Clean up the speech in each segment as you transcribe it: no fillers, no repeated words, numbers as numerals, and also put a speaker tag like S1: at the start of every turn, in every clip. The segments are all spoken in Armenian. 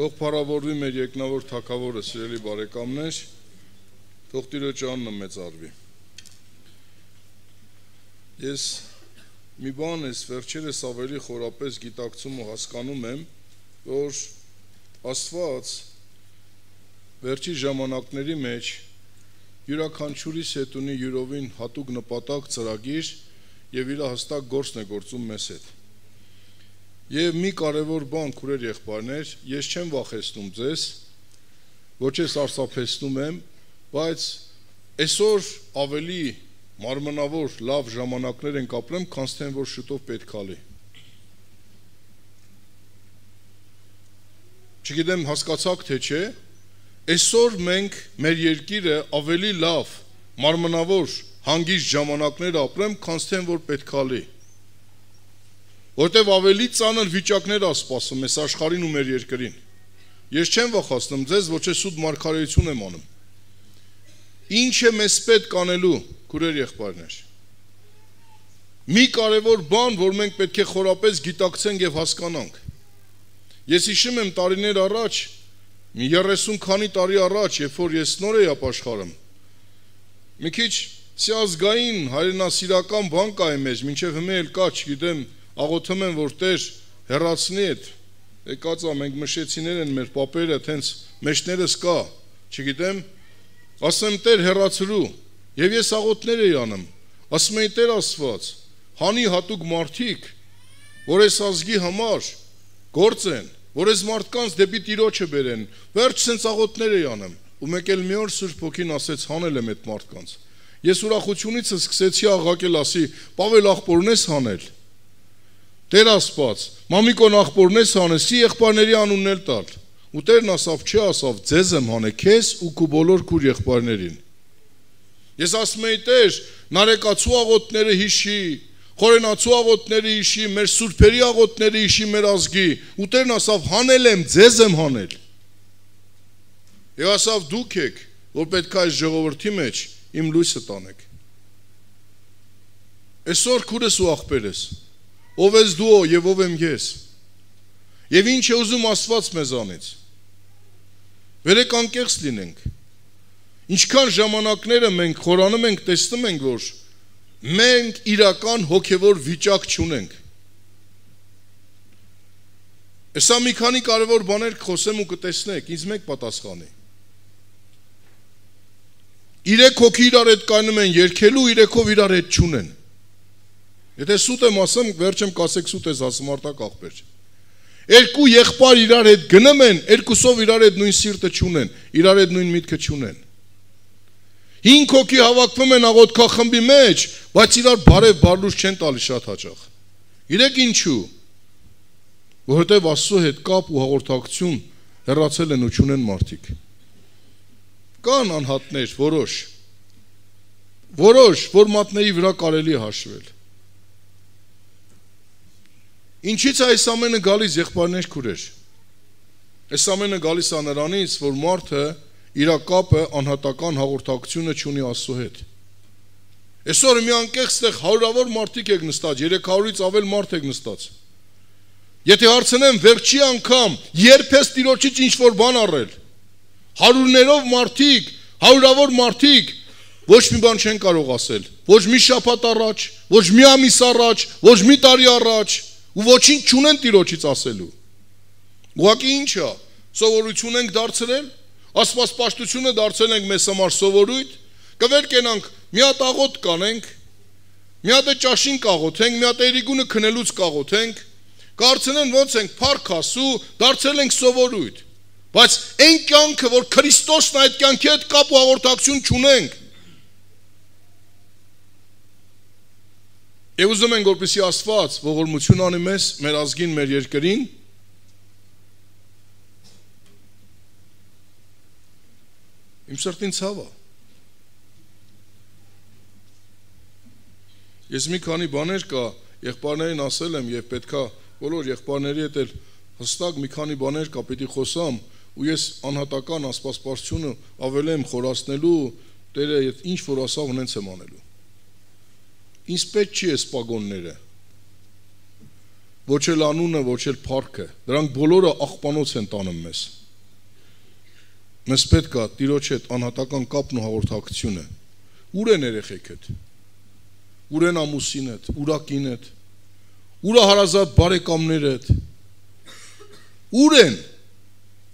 S1: Թող փառավորվի մեր երկնավոր Թագավորը, սիրելի բարեկամներ, թող Տիրոջ անունը մեծարվի։ Ես մի բան ես վերջերս ավելի խորապես գիտակցում ու հասկանում եմ, որ Աստված վերջի ժամանակների մեջ յուրաքանչյուրիս հետ ունի յուրովին հատուկ նպատակ, ծրագիր եւ իր հստակ գործն է գործում մեզ հետ։ Եվ մի կարևոր բան, քուրեր եղբայրներ, ես չեմ վախեցնում ձեզ, ոչ ես արսափեցնում եմ, բայց այսօր ավելի մարմնավոր լավ ժամանակներ ենք ապրեմ, քան թե որ շուտով պետք է լի։ Չգիտեմ հասկացաք թե չէ, այսօր մենք մեր երկիրը ավելի լավ, մարմնավոր, հանգիստ ժամանակներ ապրեմ, քան թե որ պետք է լի։ Որտեվ ավելի ծանր վիճակներ է սպասում այս աշխարհին ու մեր երկրին։ Ես չեմ վախեցնում ձեզ, ոչ է սուտ մարգարեություն եմ անում։ Ինչ է մեզ պետք անելու, քուրեր եղբայրներ։ Մի կարևոր բան, որ մենք պետք է խորապես գիտակցենք եւ հասկանանք։ Ես հիշում եմ տարիներ առաջ, մի 30 քանի տարի առաջ, երբ որ ես նոր էի ապաշխարում, մի քիչ սիազգային հայրենասիրական բան կա մեզ, մինչև հիմա էլ կա, չգիտեմ, աղոթում եմ, որ Տեր հեռացնի այդ, եկածա մենք մշեցիներ են մեր պապերը, թենց մեջներս կա, չգիտեմ, ասեմ Տեր հեռացրու, եւ ես աղոթներ էի անում, ասում էի Տեր Աստված, հանի հատուկ մարդիկ, որ այս ազգի համար գործեն, որ այս մարդկանց դեպի Տիրոջը բերեն, վերջ սենց աղոթներ էի անում, ու մեկ էլ մի օր Սուրբ Հոգին ասեց հանել եմ այդ մարդկանց։ Ես ուրախությունից սկսեցի աղաղակել, ասի, Պավել աղբորն ես հանել։ Տեր Աստված, մամիկոն աղբորն ես հանես, սի եղբայրների անունն էլ տալ։ Ու Տերն ասավ, չի ասավ, ձեզ եմ հանե, քեզ ու քու բոլոր քուր եղբայրներին։ Ես ասում էի Տեր, նարեկացու աղոթները հիշի, խորենացու աղոթները հիշի, մեր սուրբերի աղոթները հիշի մեր ազգի։ Ու Տերն ասավ, հանել եմ, ձեզ եմ հանել։ Եվ ասավ, դուք եք, որ պետք է այս ժողովրդի մեջ իմ լույսը տանեք։ Այսօր քուրս ու աղբերս, ով ես դու եւ ով եմ ես։ Եվ ինչ է ուզում Աստված մեզանից։ Վերեք անկեղծ լինենք։ Ինչքան ժամանակները մենք խորանում ենք, տեսնում ենք, որ մենք իրական հոգևոր վիճակ չունենք։ Այսա մի քանի կարևոր բաներ կխոսեմ ու կտեսնեք, ինձ մեկ պատասխանի։ 3 հոգի իրար հետ կայնում են երգելու, 3-ով իրար հետ չունեն։ Եթե սուտ եմ ասեմ, վերջեմ կասեք սուտ ես ասում արտակ աղբեր։ 2 եղբայր իրար հետ գնում են, 2-ով իրար հետ նույն սիրտը չունեն, իրար հետ նույն միտքը չունեն։ 5 հոգի հավաքվում են աղոթքախմբի մեջ, բայց իրար բարև բարլուր չեն տալի շատ հաճախ։ Իրեք ինչու։ Որովհետև Աստծո հետ կապ ու հաղորդակցություն հեռացել են ու չունեն մարդիկ։ Կան անհատներ, որոշ, որ մատների վրա կարելի է հաշվել։ Ինչից է այս ամենը գալիս եղբայրներ քուրեր։ Այս ամենը գալիս է նրանից, որ մարդը իր կապը անհատական հաղորդակցությունը չունի Աստծո հետ։ Այսօր մի անկեղծ տեղ հարյուրավոր մարդիկ եք նստած, 300-ից ավել մարդ եք նստած։ Եթե հարցնեմ վերջի անգամ երբ ես Տիրոջից ինչ-որ բան առել, հարյուրներով մարդիկ, հարյուրավոր մարդիկ ոչ մի բան չեն կարող ասել, ոչ մի շաբաթ առաջ, ոչ մի ամիս առաջ, ոչ մի տարի առաջ, ու ոչինչ չունեն Տիրոջից ասելու։ Ուղղակի ինչ է, սովորություն ենք դարձրել, աստվածպաշտությունը դարձել ենք մեզ համար սովորույթ, կվեր կենանք, մի հատ աղոթ կանենք, մի հատ ճաշին կաղոթենք, մի հատ երիգունը քնելուց կաղոթենք, կարծենեն ոնց ենք փառք ասու, դարձել ենք սովորույթ։ Բայց այն կյանքը, որ Քրիստոսն այդ կյանքի հետ կապ ու հաղորդակցություն չունենք։ Եվ ուզում ենք, որպեսզի Աստված ողորմություն անի մեզ, մեր ազգին, մեր երկրին։ Իմ սրտին ցավ է։ Ես մի քանի բաներ կա, եղբայրներին ասել եմ եւ պետքա բոլոր եղբայրների հետ էլ հստակ մի քանի բաներ կա, պիտի խոսամ, ու ես անհատական աստվածպաշտությունը ավելի եմ խորացնելու, Տերը ինչ որ ասավ ունենց եմ անելու։ Ինձ պետք չի այս պագոնները։ ոչ էլ անունը, ոչ էլ փառքը, դրանք բոլորը աղբանոց են տանում մեզ։ Մեզ պետք է Տիրոջ հետ անհատական կապն ու հաղորդակցությունը։ Ուր են երեխեքդ։ Ուր են ամուսինդ, ուր է կինդ, ուր է հարազատ բարեկամներդ։ Ուր են։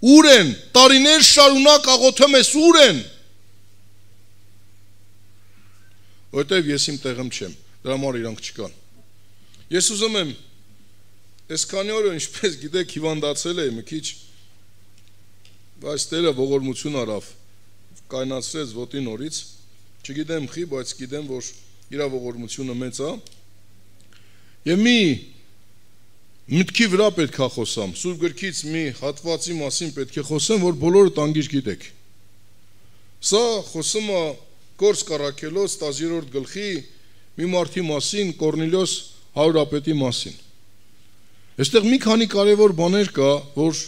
S1: Ուր են։ Տարիներ շարունակ աղոթում ես, ուր են։ Որտեվ ես իմ տեղում չեմ, դրա համար իրանք չկան։ Ես ուզում եմ այսքանի օրը ինչպես գիտեք հիվանդացել եմ մի քիչ, բայց Տերը ողորմություն արավ, կայնացրեց ոտի նորից, չգիտեմ խի, բայց գիտեմ, որ իր ողորմությունը մեծ է, եւ մի մտքի վրա պետք է խոսամ, Սուրբ գրքից մի հատվածի մասին պետք է խոսեմ, որ բոլորը տանգիր գիտեք։ Սա խոսում է Գործ Կառաքելոց 10-րդ գլխի մի մարդի մասին, Կորնիլոս հարուրապետի մասին։ Այստեղ մի քանի կարևոր բաներ կա, որ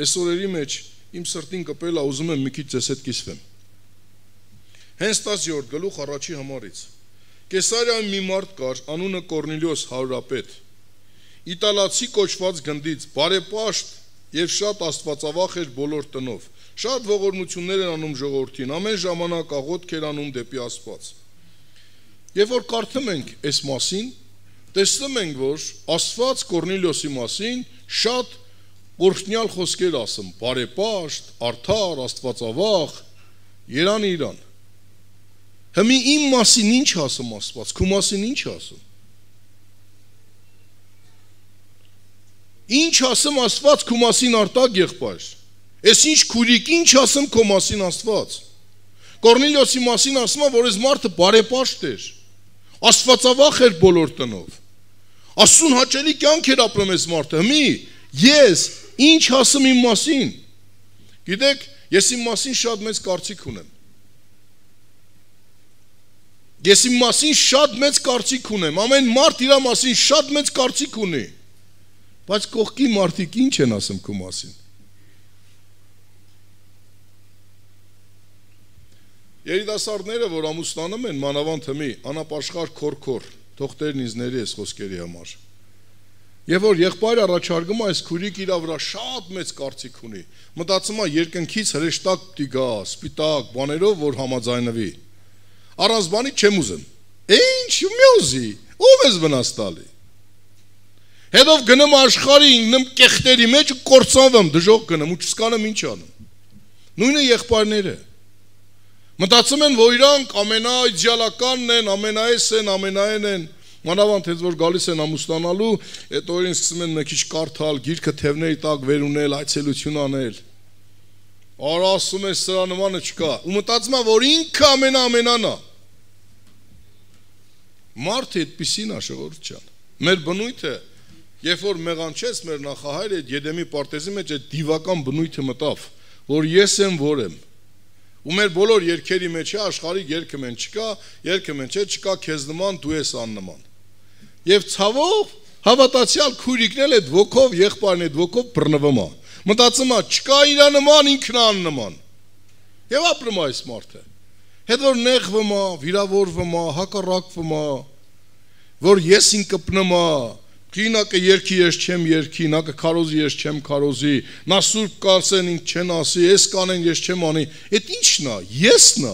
S1: այսօրերի մեջ իմ սրտին կպել է, ուզում եմ մի քիչ ձեզ հետ կիսվեմ։ Հենց 10-րդ գլուխ առաջի համարից։ Կեսարիայում մի մարդ կար, անունը Կորնիլոս հարուրապետ, իտալացի կոչված գնդից, բարեպաշտ եւ շատ աստվածավախ էր բոլոր տնով։ Շատ ողորմություններ են անում ժողովրդին, ամեն ժամանակ աղոթք էր անում դեպի Աստված։ Երբ որ կարդում ենք այս մասին, տեսնում ենք, որ Աստված Կորնիլոսի մասին շատ օրհնյալ խոսքեր ասում, բարեպաշտ, արդար, աստվածավախ, Երան Իրան։ Հիմա իմ մասին ինչ ասում Աստված, քո մասին ինչ ասում։ Ինչ ասում Աստված քո մասին արտակ եղբայր։ Ես ինչ քուրիկ, ինչ ասում քո մասին Աստված։ Կորնիլոսի մասին ասում է, որ այս մարդը բարեպաշտ էր, աստվածավախ էր բոլոր տնով։ Աստծուն հաճելի կյանք էր ապրում այս մարդը։ Հիմա ես ինչ ասում իմ մասին։ Գիտեք, ես իմ մասին շատ մեծ կարծիք ունեմ։ Ես իմ մասին շատ մեծ կարծիք ունեմ։ Ամեն մարդ իր մասին շատ մեծ կարծիք ունի։ Բայց կողքի մարդիկ ինչ են ասում քո մասին։ Երիտասարդները, որ ամուսնանում են, մանավանդ հիմի, անապաշխար քոր, թողտերն ինձ ների այս խոսքերի համար։ Եվ որ եղբայրը առաջարկում է այս քուրիկ իր վրա շատ մեծ կարծիք ունի։ Մտածում է երկնքից հրեշտակ պիտի գա, սպիտակ բաներով, որ համաձայնվի։ Առանց բանի չեմ ուզում։ Ինչ մի ուզի, ով ես վնաս տալի։ Հետո գնում աշխարհի ինքնեմ կեղտերի մեջ ու կործանվում, դժոխք գնում ու չսկանեմ ինչ անում։ Նույնը եղբայրները։ Մտածում են, որ իրանք ամենաիդեալականն են, ամենայես են, ամենայն են, մանավանդ հենց որ գալիս են ամուսնանալու, այդ օրին սկսում են մի քիչ կարդալ, գիրքը թևների տակ վեր ունել, այցելություն անել։ Արա ասում է սրա նմանը չկա։ Ու մտածում է, որ ինքը ամենան է։ Մարդը այդպիսին է, ժողովուրդ ջան։ Մեր բնույթը, երբ որ մեղանչեց մեր նախահայրը այդ Եդեմի պարտեզի մեջ այդ դիվական բնույթը մտավ, որ ես եմ, որ եմ։ Ու մեր բոլոր երգերի մեջ է աշխարհի երգը մեն չկա, երգը մեն չկա, քեզ նման դու ես աննման։ Եվ ցավով հավատացյալ քուրիկն էլ այդ ոգով, եղբայրն այդ ոգով բռնվում է։ Մտածում է, չկա իր նման, ինքն է աննման։ Եվ ապրում է այս մարդը։ Հետո որ նեղվում է, վիրավորվում է, հակառակվում է, որ ես ինքն կպնում է, Կինակը երկի ես չեմ երկի, նա կքարոզի ես չեմ քարոզի, նա սուրբ կասեն ինձ չեն ասի, ես կանեն ես չեմ անի, այդ ի՞նչն է, եսն է,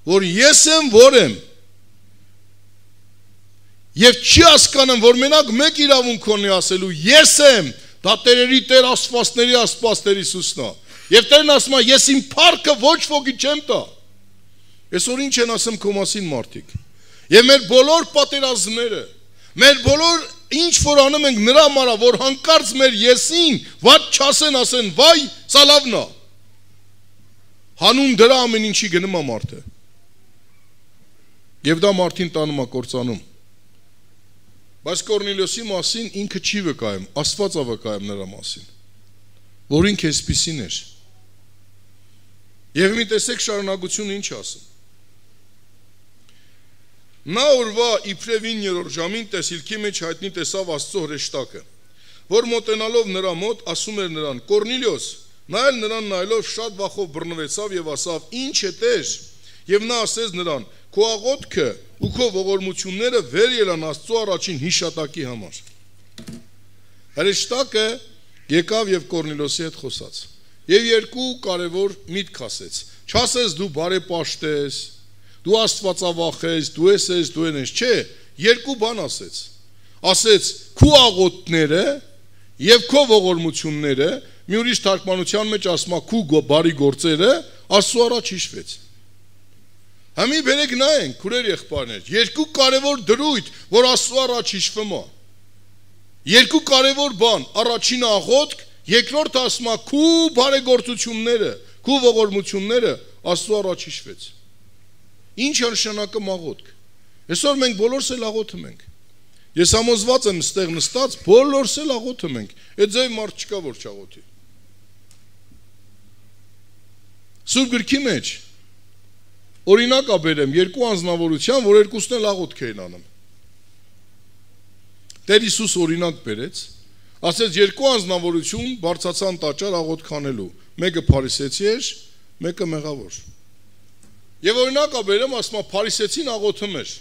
S1: որ ես եմ, որ եմ, եւ չի հասկանում, որ մենակ մեկ իրավունք ունի ասելու, ես եմ, դա Տերերի Տեր, Աստվածների Աստված Տեր Հիսուսն է, եւ Տերն ասում է, ես իմ փառքը ոչ ոքի չեմ տա, այսօր ինչ են ասում քո մասին մարդիկ, եւ մեր բոլոր պատերազմները, մեր բոլոր ինչ որ անում ենք նրա մարա, որ հանկարծ մեր եսին վատ չասեն, ասեն, վայ, սա լավն է։ Հանուն դրա ամեն ինչի գնում է մարդը։ Եվ դա մարդին տանում է կործանում։ Բայց Կորնիլոսի մասին ինքը չի վկայում, Աստված է վկայում նրա մասին, որ ինքը այսպիսին էր։ Եվ մի տեսեք շարունակությունը ինչ ասում։ Նա օրվա իբրև 9-րդ ժամին տեսիլքի մեջ հայտնի տեսավ Աստծո հրեշտակը, որ մոտենալով նրա մոտ ասում էր նրան. Կորնիլիոս, նա էլ նրան նայելով շատ վախով բռնվեցավ եւ ասավ. Ինչ է Տեր, եւ նա ասեց նրան. Քո աղոթքը ու քո ողորմությունները վեր ելան Աստծո առաջին հիշատակի համար։ Հրեշտակը եկավ եւ Կորնիլոսի հետ խոսաց։ Եվ երկու կարևոր միտք ասեց։ Չասես դու բարեպաշտ ես, դու աստվածավախ ես, դու ես, դու ես, չէ, երկու բան ասեց։ Ասեց քու աղոթները եւ քո ողորմությունները, մի ուրիշ թարգմանության մեջ ասում է քու բարի գործերը Աստծո առաջ հիշվեց։ Համի բերեք նայենք, քուրեր եղբայրներ, երկու կարևոր դրույթ, որ Աստծո առաջ հիշվում է։ Երկու կարևոր բան, առաջինը աղոթք, երկրորդը ասում է քու բարեգործությունները, քու ողորմությունները Աստծո առաջ հիշվեց։ Ինչ է նշանակում աղոթք։ Այսօր մենք բոլորս էլ աղոթում ենք։ Ես համոզված եմ ստեղ նստած, բոլորս էլ աղոթում ենք։ Այդ ձև մարդ չկա, որ չաղոթի։ Սուրբ գրքի մեջ օրինակ աբերեմ երկու անձնավորության, որ երկուսն էլ աղոթք էին անում։ Տեր Հիսուս օրինակ բերեց, ասեց երկու անձնավորություն բարձացան տաճար աղոթք անելու, մեկը փարիսեցի էր, մեկը մեղավոր։ Եվ օրինակ աբերեմ ասում է փարիսեցին աղոթում էր,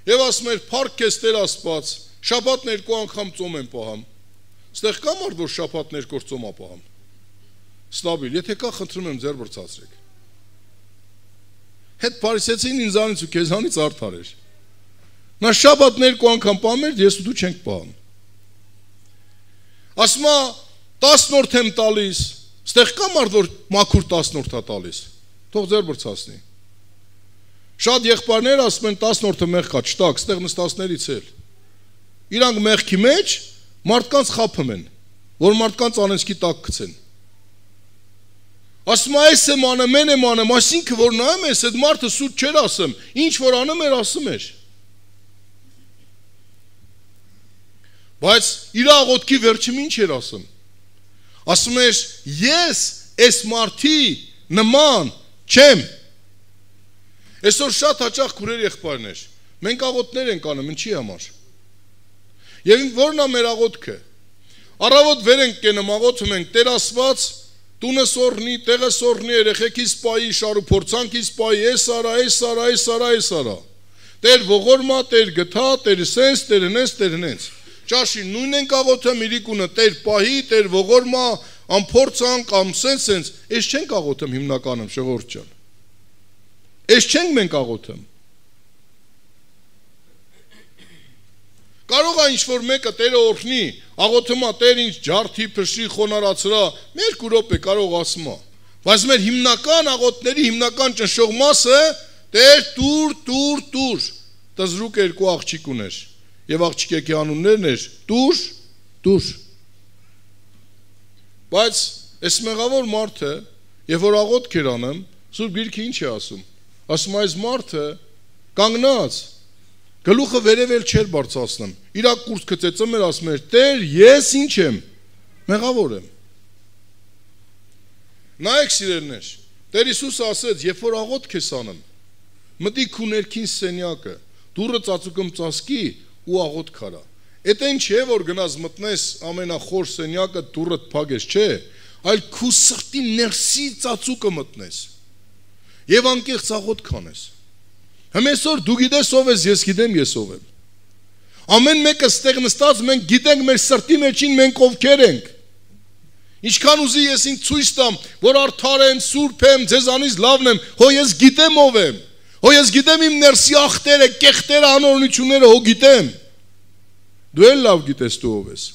S1: եւ ասում էր փառք քեզ Տեր Աստված, շաբաթն երկու անգամ ծոմ եմ պահամ։ Ստեղ կա մարդ, որ շաբաթն երկու ծոմ ապահամ։ Ստաբիլ, եթե կա, խնդրում եմ ձեր բրցացրեք։ Հետ փարիսեցին ինձանից ու քեզանից արդար էր։ Նա շաբաթն երկու անգամ պահում էր, ես ու դու չենք պահում։ Ասում է 10-րդ եմ տալիս, ստեղ կա մարդ, որ մաքուր 10-րդ է տալիս։ Թող ձեր բրցացնի։ Շատ եղբայրներ ասում են 10-րդը մեղք կա, չտակ, ստեղ նստածներից էլ։ Իրանք մեղքի մեջ մարդկանց խափում են, որ մարդկանց անենցքի տակ գցեն։ Ասում է այս եմ անում, մեն եմ անում, այսինքն որ նայում ես, այդ մարդը սուտ չէր ասում, ինչ որ անում էր, ասում էր։ Բայց իր աղոթքի վերջում ինչ էր ասում։ Ասում էր ես այս մարդի նման չեմ։ Այսօր շատ հաճախ քուրեր եղբայրներ, մենք աղոթներ ենք անում, ինչի համար։ Եվ որն է մեր աղոթքը։ Առավոտ վեր ենք կենում, աղոթում ենք Տեր Աստված, տունը սորնի, տեղը սորնի, երեխեքիս պայի, շարուփորձանքիս պայի, այս արա, այս արա, այս արա, այս արա։ Տեր ողորմա, Տեր գթա, Տեր սենց, Տեր հնես, Տեր հնես։ Ճաշի նույն ենք աղոթում իրիկունը, Տեր պահի, Տեր ողորմա, ամփորձանք, ամ սենց, այս չենք աղոթում հիմնականում ժողովուրդ ջան։ Այս չենք մենք աղոթում։ Կարող է ինչ-որ մեկը Տերը օրհնի, աղոթում է Տեր ինձ ջարդի, փշի, խոնարհացրա, մեր կուրոպ է կարող ասում է։ Բայց մեր հիմնական աղոթների հիմնական ճնշող մասը Տեր տուր, տզրուկ երկու աղջիկ ուներ, եւ աղջիկի անուններն էր տուր։ Բայց այս մեղավոր մարդը, երբ որ աղոթք էր անում, Սուրբ Գիրքը ինչ է ասում։ Ասում այս մարդը կանգնած գլուխը վերևել չէր բարձրացնում։ Իր կուրծքը ծեծում էր, ասում էր. «Տեր, ես ինչ եմ, մեղավոր եմ»։ Նայեք սիրելիներ, Տեր Հիսուսը ասեց, երբ որ աղոթք ես անում, մտի քու ներքին սենյակը, դուռը ծածուկում ծածկի ու աղոթք արա։ Էդ այն չէ, որ գնաս մտնես ամենախոր սենյակը, դուռը փակես, չէ, այլ քու սրտի ներսի ծածուկը մտնես։ Եվ անկեղծ աղոթք անես։ Հիմա այսօր դու գիտես ով ես, ես գիտեմ ես ով եմ։ Ամեն մեկը ստեղ նստած մենք գիտենք մեր սրտի մեջին մենք ովքեր ենք։ Ինչքան ուզի ես ինձ ցույց տամ, որ արդար եմ, սուրբ եմ, ձեզանից լավն եմ, հո ես գիտեմ ով եմ։ Հո ես գիտեմ իմ ներսի ախտերը, կեղտերը, անօրինությունները, հո գիտեմ։ Դու էլ լավ գիտես դու ով ես։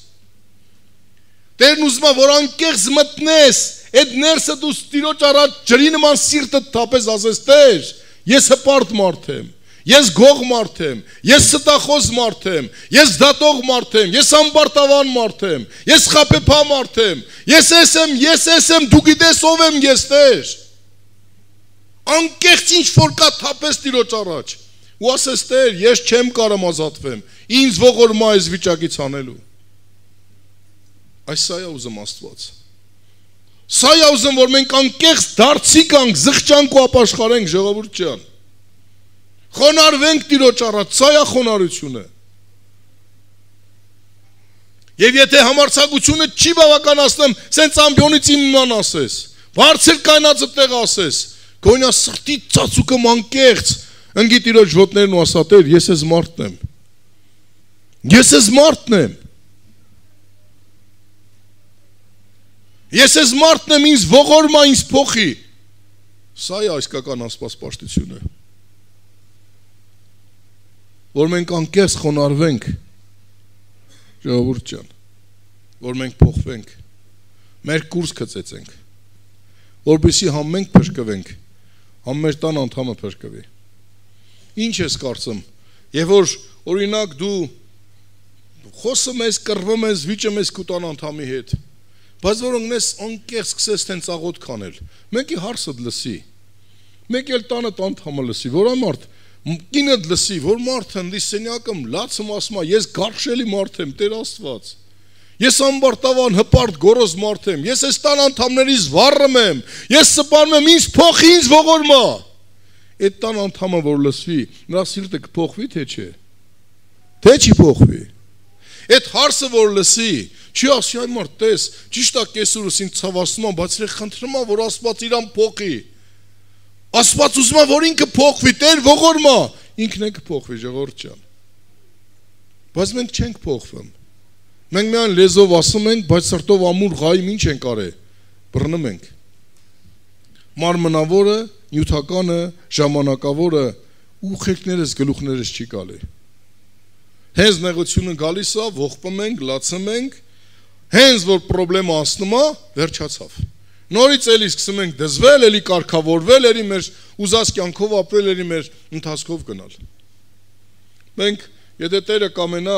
S1: Տերն ուզում է որ անկեղծ մտնես, այդ ներսը դու Տիրոջ առաջ ջրի նման սիրտը թափես, ասես Տեր, ես հպարտ մարդ եմ, ես գող մարդ եմ, ես ստախոս մարդ եմ, ես դատող մարդ եմ, ես ամբարտավան մարդ եմ, ես խաբեբա մարդ եմ, ես եմ, դու գիտես ով եմ ես Տեր։ Անկեղծ ինչ որ կա թափես Տիրոջ առաջ։ Ու ասես Տեր, ես չեմ կարող ազատվեմ, ինձ ողորմա այս վիճակից անելու։ Այս սա է ուզում Աստված։ Սա է ուզում, որ մենք անկեղծ դարձի կանք, զղջանք ու ապաշխարենք ժողովուրդ ջան։ Խոնարհվենք Տիրոջ առաջ, սա է խոնարհությունը։ Եվ եթե համարձակությունը չի բավականացնում, սենց ամբիոնից իմանան ասես, բարձր կայնածը տեղ ասես, գոնյա սրտի ծածուկը անկեղծ, ընկի Տիրոջ ոտներն ու ասա Տեր, ես ես մարդն եմ։ Ես ես մարդն եմ։ Ես ես մարդն եմ, ինձ ողորմա, ինձ փոխի։ Սա է այսկական աստվածպաշտությունը։ Որ մենք անկեղծ խոնարհվենք, ժողովուրդ ջան, որ մենք փոխվենք, մեր կուրս գծեցենք, որպեսզի համ մենք փրկվենք, համ մեր տան անդամը փրկվի։ Ինչ ես կարծում, եւ որ օրինակ դու խոսում ես, կռվում ես, վիճում ես քո տան անդամի հետ, բայց որ ունես անկեղծ սկսես տենց աղոտ կանել, մեկի հարցը լսի, մեկ էլ տանը անդամը լսի, որ ամարդ կինը լսի, որ մարդը դի սենյակում լացում ասում է, ես գարշելի մարդ եմ, Տեր Աստված։ Ես ամբարտավան հպարտ գորոզ մարդ եմ, ես այս տան անդամներից վառում եմ, ես սպանում եմ, ինձ փոխի, ինձ ողորմա։ Այդ տան անդամը որ լսվի, նրա սիրտը կփոխվի թե չէ։ Թե չի փոխվի։ Այդ հարցը որ լսի, չի ասի այ մարդ, տես, ճիշտ է կեսուրս ինձ ցավացնում եմ, բայց խնդրում եմ, որ Աստված իրան փոխի։ Աստված ուզում է, որ ինքը փոխվի, Տեր ողորմա, ինքն է կփոխվի, ժողովուրդ ջան։ Բայց մենք չենք փոխվում։ Մենք միայն լեզվով ասում ենք, բայց սրտով ամուր ղայմ ինչ ենք արել։ Բռնում ենք։ Մարմնավորը, նյութականը, ժամանակավորը ուղեկներս գլուխներս չի գալի։ Հենց նեղությունը գալիս է, ողբում ենք, լացում ենք, հենց որ խնդրեմը անցնում է, վերջացավ։ Նորից էլի սկսում ենք դզվել, էլի կարգավորվել, էլի մեր ուզած կյանքով ապրել, էլի մեր ընթացքով գնալ։ Մենք, եթե Տերը կամենա,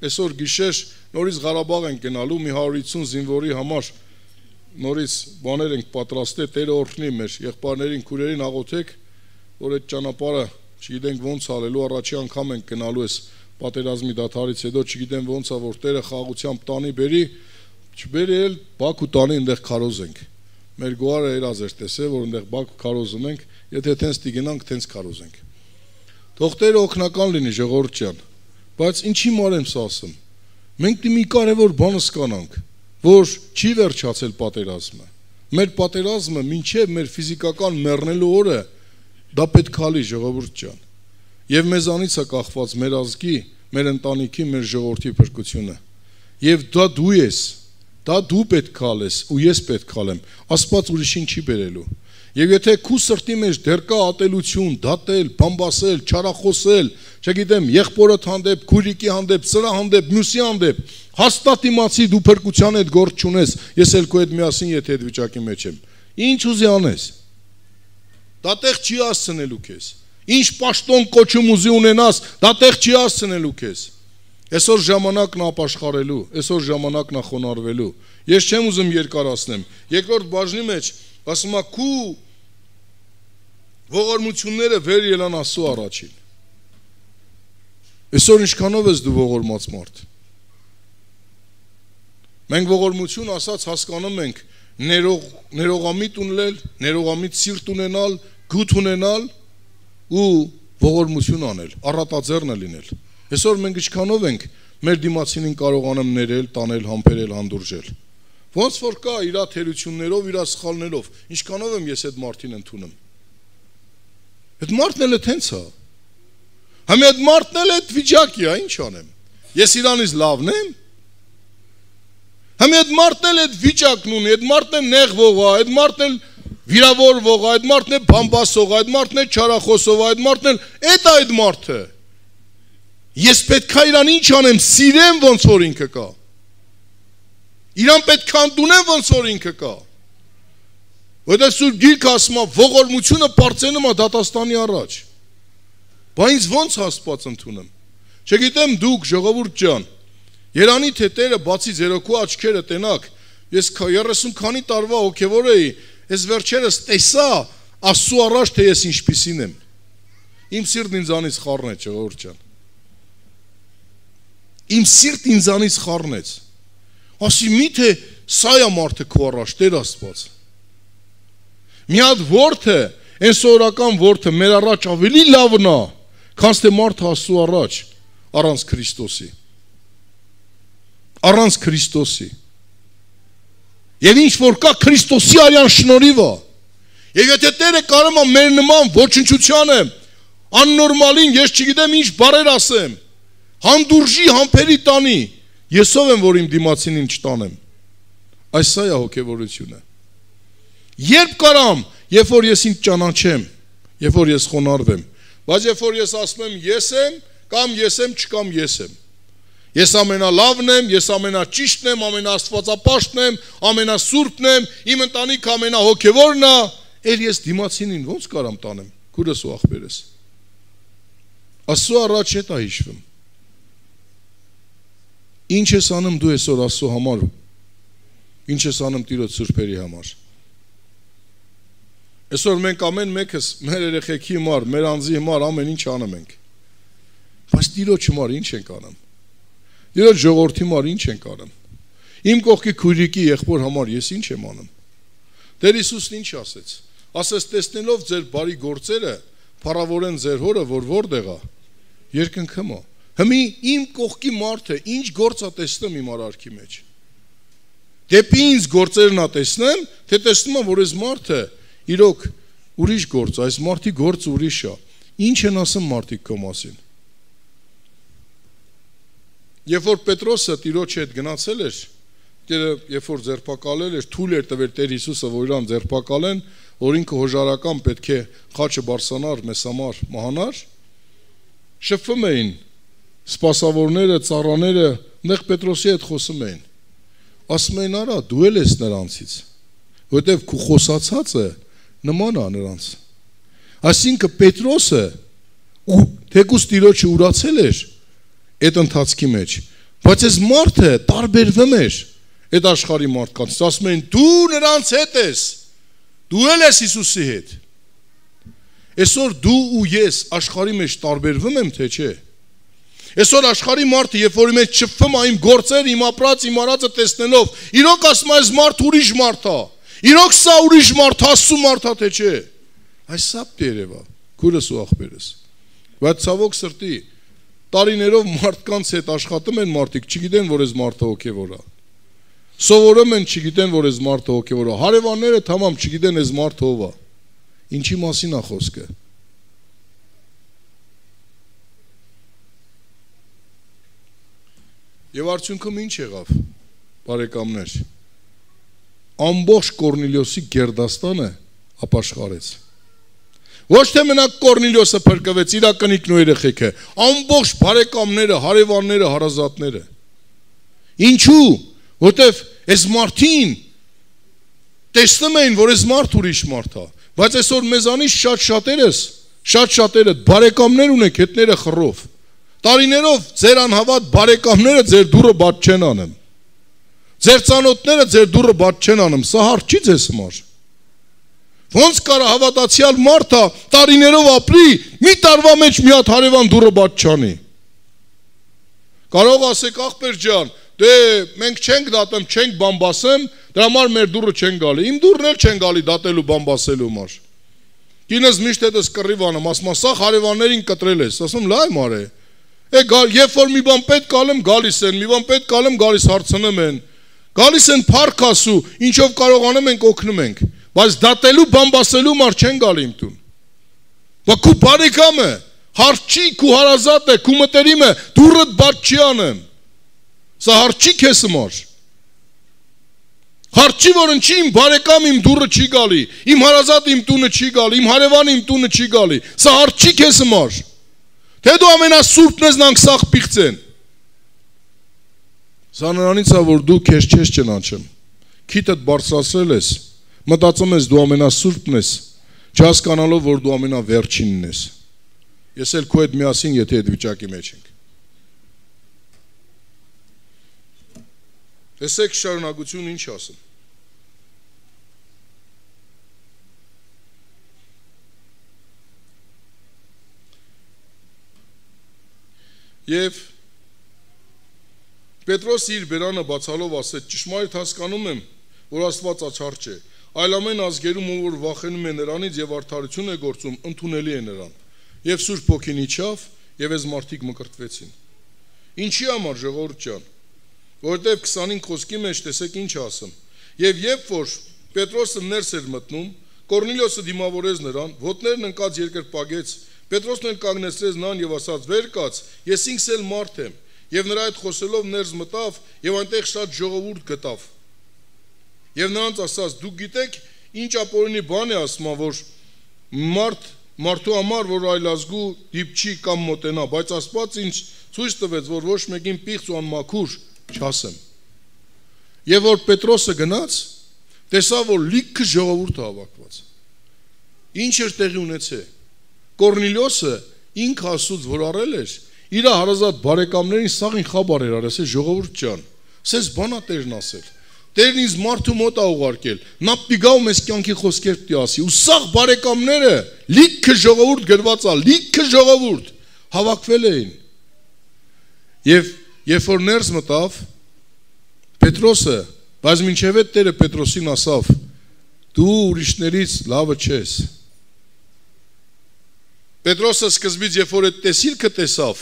S1: այսօր գիշեր նորից Ղարաբաղ ենք գնալու մի 150 զինվորի համար, նորից բաներ ենք պատրաստել, Տերը օրհնի մեր եղբայրներին, քուրերին աղոթեք, որ այդ ճանապարհը չգիտենք ոնց անելու, առաջի անգամ ենք գնալու այս պատերազմի դադարից հետո, չգիտեմ ոնց է, որ Տերը խաղությամբ տանի բերի, չբերի էլ Բաքու տանի, այնտեղ քարոզենք։ Մեր գոհարը երազ էր տեսել, որ այնտեղ Բաքու քարոզում ենք, եթե տենց տիգնանք, տենց քարոզենք։ Թող Տերը օգնական լինի, ժողովուրդ ջան, բայց ինչի մար եմ սա ասում։ Մենք մի կարևոր բան սկանանք, որ չի վերջացել պատերազմը։ Մեր պատերազմը մինչև մեր ֆիզիկական մեռնելու օրը դա պետք է լի, ժողովուրդ ջան։ Եվ մեզանից է կախված մեր ազգի, մեր ընտանիքի, մեր ժողովրդի փրկությունը։ Եվ դա դու ես, դա դու պետք է ալես ու ես պետք է ալեմ, Աստված ուրիշին չի բերելու։ Եվ եթե քու սրտի մեջ դեռ կա ատելություն, դատել, բամբասել, չարախոսել, չգիտեմ, եղբորդ հանդեպ, քուրիկի հանդեպ, սրա հանդեպ, մյուսի հանդեպ, հաստատ իմացի դու փրկության հետ գործ չունես, ես էլ քո հետ միասին եթե այդ վիճակի մեջ եմ։ Ինչ ուզի անես։ Դա տեղ չի հասցնելու քեզ։ Ինչ պաշտոն կոչում ուզի ունենաս, դա տեղ չի հասցնելու քեզ։ Այսօր ժամանակն ապաշխարելու, այսօր ժամանակն խոնարհվելու։ Ես չեմ ուզում երկարացնեմ։ Երկրորդ բաժնի մեջ ասում է քու ողորմությունները վեր ելան Աստծո առաջին։ Այսօր ինչքանով ես դու ողորմած մարդ։ Մենք ողորմություն ասած հասկանում ենք ներողամիտ ունել, ներողամիտ սիրտ ունենալ, գութ ունենալ ու ողորմություն անել, առատաձեռնը լինել։ Այսօր մենք ինչքանով ենք մեր դիմացինին կարողանում ներել, տանել, համբերել, հանդուրժել։ Ոնց որ կա իր թերություններով, իր սխալներով, ինչքանով եմ ես այդ մարդին ընդունում։ Այդ մարդն էլ է տենց է։ Համի այդ մարդն էլ այդ վիճակի է, ինչ անեմ։ Ես իրանից լավն եմ։ Համի այդ մարդն էլ այդ վիճակն ունի, այդ մարդն է նեղվող, այդ մարդն էլ վիրավորվող, այդ մարդն է բամբասող, այդ մարդն է չարախոսող, այդ մարդն էլ այդ մարդը։ Ես պետք է իրան ինչ անեմ, սիրեմ ոնց որ ինքը կա։ Իրան պետք է ընդունեմ ոնց որ ինքը կա։ Որտեղ Սուրբ Գիրքը ասում է, ողորմությունը պարծենում է դատաստանի առաջ։ Բա ինձ ոնց Աստված ընդունեմ։ Չգիտեմ դուք ժողովուրդ ջան, երանի թե Տերը բացի ձերոքու աչքերը տենակ, ես 30 քանի տարվա հոգևոր էի, ես վերջերս տեսա Աստծո առաջ թե ես ինչպիսին եմ։ Իմ սիրտն ինձանից խառնեց, ժողովուրդ ջան։ Իմ սիրտն ինձանից խառնեց։ Ասի միթե սա է մարդը քո առաջ, Տեր Աստված։ Մի հատ որդը, այն սովորական որդը մեր առաջ ավելի լավն է, քան թե մարդը Աստծո առաջ առանց Քրիստոսի։ Առանց Քրիստոսի։ Եվ ինչ որ կա Քրիստոսի արյան շնորհիվ է։ Եվ եթե Տերը կարող է մեր նման ոչնչությանը աննորմալին, ես չգիտեմ ինչ բառեր ասեմ, հանդուրժի համբերի տանի, ես ով եմ որ իմ դիմացինին չտանեմ։ Այս սա է հոգևորությունը։ Երբ կարամ, երբ որ ես ինձ ճանաչեմ, երբ որ ես խոնարհվեմ, բայց երբ որ ես ասում եմ ես եմ, կամ ես եմ, չկամ ես եմ։ Ես ամենալավն եմ, ես ամենաճիշտն եմ, ամենաաստվածապաշտն եմ, ամենասուրբն եմ, իմ ընտանիքը ամենահոգևորն է, ել ես դիմացինին ոնց կարամ տանեմ, քուրս ու ախպերս։ Աստծո առաջ հետ է հիշվում։ Ինչ ես անում դու այսօր Աստծո համար, ինչ ես անում Տիրոջ սուրբերի համար։ Այսօր մենք ամեն մեկս մեր երեխեքի համար, մեր անձի համար ամեն ինչ անում ենք։ Բայց Տիրոջ համար ինչ ենք անում։ Տիրոջ ժողովրդի համար ինչ ենք անում։ Իմ կողքի քույրիկի եղբոր համար ես ինչ եմ անում։ Տեր Հիսուսն ինչ ասեց։ Ասեց տեսնելով ձեր բարի գործերը, փառավորեն ձեր հորը, որ որտեղ է։ Երկնքում է։ Հիմի իմ կողքի մարդը ինչ գործ է տեսնում իմ արարքի մեջ։ Դեպի ինձ գործերն է տեսնեմ, թե տեսնում եմ, որ այս մարդը իրոք ուրիշ գործ, այս մարդի գործը ուրիշ է։ Ինչ են ասում մարդիկ քո մասին։ Երբ որ Պետրոսը Տիրոջ հետ գնացել էր, երբ որ ձերբակալել էր, թույլ էր տվել Տեր Հիսուսը, որ իրան ձերբակալեն, որ ինքը հոժարական պետք է խաչը բարձրանար, մեզ համար մահանար, շփվում էին սպասավորները, ծառաները, նեղ Պետրոսի հետ խոսում էին։ Ասում էին, արա, դու էլ ես նրանցից, որտեվ քո խոսացածը նման է նրանց։ Այսինքն Պետրոսը թեկուզ Տիրոջը ուրացել էր այդ ընթացքի մեջ, բայց այս մարդը տարբերվում էր այդ աշխարհի մարդկանց։ Ասում են, դու նրանց հետ ես, դու էլ ես Հիսուսի հետ։ Այսօր դու ու ես աշխարհի մեջ տարբերվում եմ, թե չէ։ Այսօր աշխարհի մարդը, երբ որ մեջ շփվում է իմ գործերը, իմ ապրած, իմ արածը տեսնելով, իրոք ասում է, այս մարդ ուրիշ մարդ է։ Իրոք սա ուրիշ մարդ, Աստծո մարդ է, թե չէ։ Այս սա երևա, քուրս ու ախպերս։ Բայց ցավոք սրտի, տարիներով մարդկանց հետ աշխատում են մարդիկ, չգիտեն, որ այս մարդը հոգևոր է։ Սովորում են, չգիտեն, որ այս մարդը հոգևոր է։ Հարևանները թամամ չգիտեն այս մարդը ով է։ Ինչի մասին է խոսքը։ Եվ արդյունքում ինչ եղավ, բարեկամներ։ Ամբողջ Կորնիլիոսի գերդաստանը ապաշխարեց։ Ոչ թե մենակ Կորնիլիոսը փրկվեց, իր կնիկն ու երեխեքը, ամբողջ բարեկամները, հարևանները, հարազատները։ Ինչու՞, որտեվ այս մարդին տեսնում էին, որ այս մարդ ուրիշ մարդ է, բայց այսօր մեզանից շատ-շատերը բարեկամներ ունեք, հետները խռով։ Տարիներով ձեր անհավատ բարեկամները ձեր դուռը բաց չեն անում։ Ձեր ծանոթները ձեր դուռը բաց չեն անում, սա հարց չի ձեզ համար։ Ոնց կարա հավատացյալ մարդը տարիներով ապրի, մի տարվա մեջ մի հատ հարևան դուռը բաց չանի։ Կարող ասեք ախպեր ջան, դե մենք չենք դատեմ, չենք բամբասեմ, դրա համար մեր դուռը չեն գալի։ Իմ դուռն էլ չեն գալի դատելու բամբասելու համար։ Կինս միշտ հետս կռիվ անում, ասում սա հարևաններին կտրել ես, ասում լայ մարե։ Երբ որ մի բան պետք ալեմ, գալիս են, մի բան պետք ալեմ, գալիս հարցնում են, գալիս են փառք ասու, ինչով կարողանում ենք օգնում ենք, բայց դատելու բամբասելու մար չեն գալի իմ տուն։ Բայց քու բարեկամը, հարց չի, քու հարազատ է, քու մտերիմը, դուռդ բաց չի անեմ։ Սա հարց չի քեզ համար։ Հարց չի, որ ինչի իմ բարեկամ իմ դուռը չի գալի, իմ հարազատ իմ տունը չի գալի, իմ հարևան իմ տունը չի գալի։ Սա հարց չի քեզ համար։ Թե դու ամենասուրբն ես նանք սաղ պիղծեն։ Սա նրանից է, որ դու քեզ չես ճանաչում։ Քիթդ բարձրացրել ես, մտածում ես դու ամենասուրբն ես, չհասկանալով, որ դու ամենավերջինն ես։ Ես էլ քո հետ միասին, եթե այդ վիճակի մեջ ենք։ Տեսեք շարունակությունը ինչ ասում։ Եվ Պետրոսը իր բերանը բացալով ասեց. ճշմարիտ հասկանում եմ, որ Աստված աչառ չէ, այլ ամեն ազգերում ով որ վախենում է նրանից եւ արդարություն է գործում, ընդունելի է նրան։ Եվ Սուրբ Հոգին իջավ, եւ այս մարդիկ մկրտվեցին։ Ինչի համար, ժողովուրդ ջան, որովհետեւ 25 խոսքի մեջ տեսեք ինչ ասում։ Եվ երբ որ Պետրոսը ներս էր մտնում, Կորնիլիոսը դիմավորեց նրան, ոտներն ընկած երկրպագեց, Պետրոսն էլ կանգնեցրեց նրան եւ ասաց. «Վեր կաց, ես ինքս էլ մարդ եմ»։ Եվ նրա հետ խոսելով ներս մտավ եւ այնտեղ շատ ժողովուրդ գտավ։ Եվ նրանց ասաց. դուք գիտեք ինչ ապօրինի բան է ասում, որ մարդու համար, որ այլազգու դիպչի կամ մոտենա, բայց Աստված ինձ ցույց տվեց, որ ոչ մեկին պիղծ ու անմաքուր չասեմ։ Եվ որ Պետրոսը գնաց, տեսավ, որ լիքը ժողովուրդ հավաքված։ Ինչ էր տեղի ունեցել։ Կորնիլիոսը ինքը ասուց, որ առել էր, իր հարազատ բարեկամներին սաղին խաբար էր արել, ասել ժողովուրդ ջան, սենց բանա Տերն ասել։ Տերն ինձ մարդու մոտ ա ուղարկել, նա պիգա ու մեզ կյանքի խոսքեր պիտի ասի, ու սաղ բարեկամները լիքը ժողովուրդ գրված ա, լիքը ժողովուրդ հավաքվել էին։ Եվ երբ որ ներս մտավ, Պետրոսը, բայց մինչև այդ Տերը Պետրոսին ասավ. դու ուրիշներից լավը չես։ Պետրոսը սկզբից երբ որ այդ տեսիլքը տեսավ,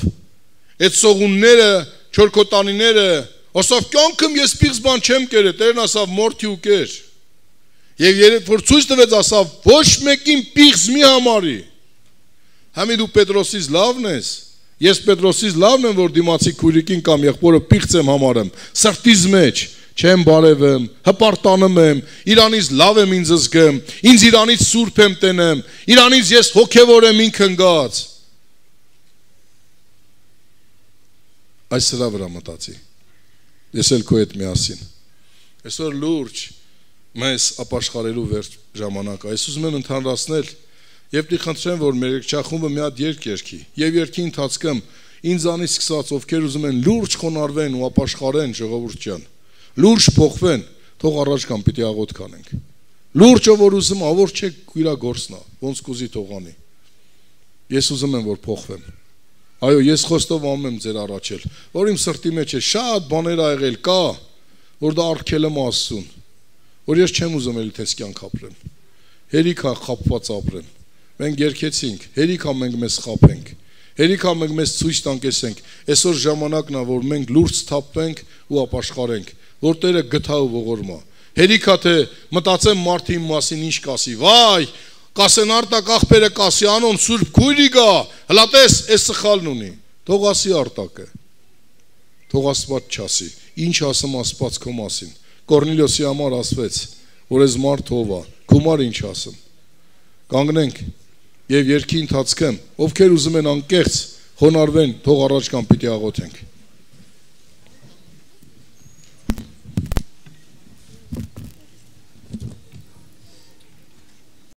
S1: այդ սողունները, չորքոտանիները, ասավ կյանքում ես պիղծ բան չեմ կերել, Տերն ասավ մորթի ու կեր։ Եվ երբ որ ցույց տվեց ասավ ոչ մեկին պիղծ մի համարի։ Համի դու Պետրոսից լավն ես, ես Պետրոսից լավն եմ, որ դիմացի քույրիկին կամ եղբորը պիղծ եմ համարում, սրտից մեջ չեմ բարևեմ, հպարտանում եմ, իրանից լավ եմ ինձ զգում, ինձ իրանից սուրբ եմ տենեմ, իրանից ես հոգևոր եմ ինքն գած։ Այս սրա վրա մտածի։ Ես էլ քո հետ միասին։ Այսօր լուրջ մեզ ապաշխարելու վերջ ժամանակը։ Այս ուզում եմ ընդհանրացնել եւ դի խնդրեմ, որ մեր երգչախումբը մի հատ երգ երգի։ Եվ երգի ընթացքում ինձանից սկսած ովքեր ուզում են լուրջ խոնարհվեն ու ապաշխարեն ժողովուրդ ջան, լուրջ փոխվեն, թող առաջ կամ պիտի աղոթ կանենք։ Լուրջը որ ուզում, ավոր չէ իր գործնա, ոնց կուզի թողանի։ Ես ուզում եմ որ փոխվեմ։ Այո, ես խոստովանում եմ ձեր առաջել, որ իմ սրտի մեջ է շատ բաներ ա եղել կա, որ դա արգել եմ Աստծուն, որ ես չեմ ուզում էլի թես կյանք ապրեմ։ Հերիք ա խապված ապրեմ։ Մենք երգեցինք, հերիք ա մենք մեզ խապենք։ Հերիք ա մենք մեզ ցույց տանկեսենք։ Այսօր ժամանակն ա, որ մենք լուրջ թափվենք ու ապաշխարենք, որ Տերը գթա ու ողորմա։ Հերիք ա թե մտածեմ մարդի մասին ինչ կասի։ Վայ, կասեն արտակ աղբերը կասի անոն սուրբ քույրի գա, հլա տես, այս սխալն ունի։ Թող ասի արտակը։ Թող Աստված չասի։ Ինչ ասում Աստված քո մասին։ Կորնիլիոսի համար ասվեց, որ այս մարդ ով ա, գումար ինչ ասում։ Կանգնենք եւ երկի ընթացքում, ովքեր ուզում են անկեղծ խոնարհվեն, թող առաջ կամ պիտի աղոթենք։